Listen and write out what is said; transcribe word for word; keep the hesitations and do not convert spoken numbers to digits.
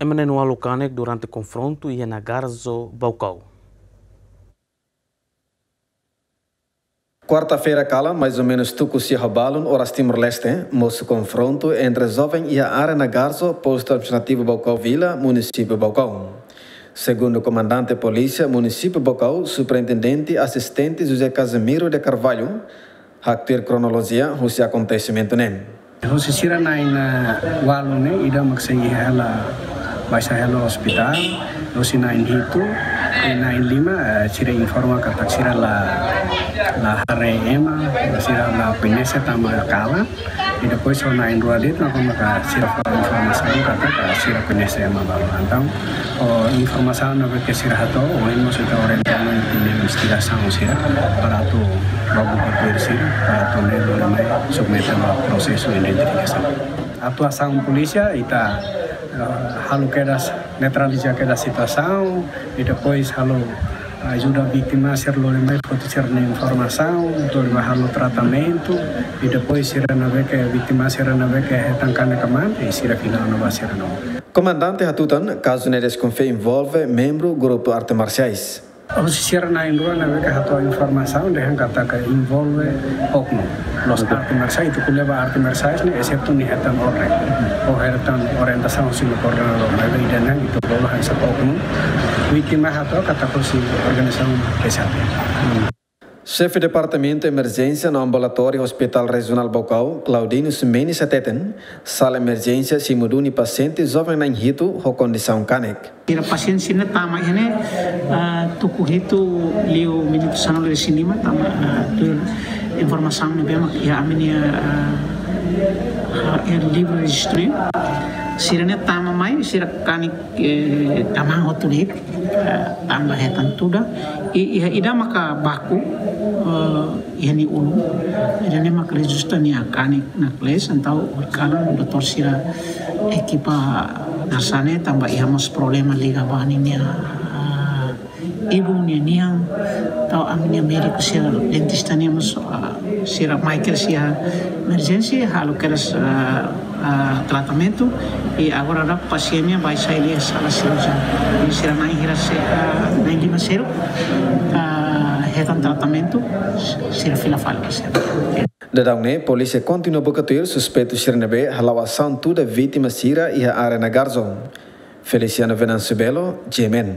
Ema na'in-ualu kanek durante konfrontu iha Nagarzo, Baucau. Kuarta-feira kalan, mais ou menus tuku sia ho balun oras Timor-Leste, mosu konfrontu entre joven iha área Nagarzo, postu administrativu Baucau Vila, munisípiu Baucau. Segundu komandante polísia munisípiu Baucau, Superintendente Asistente José Casimiro de Carvalho, haktuir kronolojia husi akontesimentu ne'e. Hosi sira na'in-ualu ne'e, ida mak sei iha hela, baixa hela ospitál, hosi na'in-hitu, i na'in-lima, eh, sira informa katak sira la, la haree ema, sira la koñese tanba kalan, i depois ho na'in-rua de'it, maka, maka sira fó informasaun katak sira koñese ema balu. Entaun, ho informasaun ne'ebé ke sira hato'o, ohin mós ita orienta ona iha investigasaun sira, para atu ba buka tuir sira, para atu lori mai submete ba prosesu identifikasaun. Atuasaun polísia, ita, eh, halo kedas, neutraliza kedas situasaun, i depois halo ajuda vítima sira lori mai foti sira-nia informasaun, lori mai halo tratamentu, i depois sira ne'ebé ke vítima sira ne'ebé ke hetan kanek ka mate, i sira fila ona ba sira-nia. Komandante hatutan, kazu ne'e deskonfia envolve membru grupu arte marsiais. Hosi sira na'in-rua ne'ebé ke hato'o informasaun dehan katak envolve oknum. Loos, arte marsiais, ita ko'alia ba arte marsiais ne'e, exetu nia hetan orden, ou hetan orientasaun husi nia koordenadór, maibé ida-ne'e ita bolu hanesan oknum. Vítima hato'o katak husi organizasaun P S A P. Xefe Departamentu Emerjénsia no Ambulatóriu Hospitál Rejionál Baucau, Claudinho Ximenes hateten, sala emerjénsia simu duni pasiente joven na'in-hitu ho kondisaun kanek. Sira pasiente sira-ne'e tama iha ne'e, ah, tuku hitu liu minutu sanulu-resin-lima tama, ah, tuir informasaun ne'ebé mak iha ami-nia, ah, ah, iha livru rejistru ne'e. Sira-ne'e tama mai, sira kanek, eh, tama hotu de'it, eh, tanba hetan tuda. I, iha ida maka baku, eh, iha nia ulun. Ida-ne'e maka rezulta nia kanek naklees, entaun ohin kalan doutór sira ekipa hanesan ne'e tanba iha mós problema liga ba ninia, ah, ibun nia nian, entaun ami-nia médiku sira, dentista nian mós, ah, sira mai kedas iha emerjénsia, halo kedas, ah, ah, tratamentu, i agora daudaun pasiente nian bá sai iha sala sirurjian. I sira na'in hira se, ah, na'in-lima seluk, ah, hetan tratamentu, sira fila fali ba sira. Daudaun ne'e, polísia kontinua buka tuir suspeitu sira ne'ebé hala'o asaun tuda vítima sira iha área Nagarzo. Feliciano Venâncio Belo, G M N.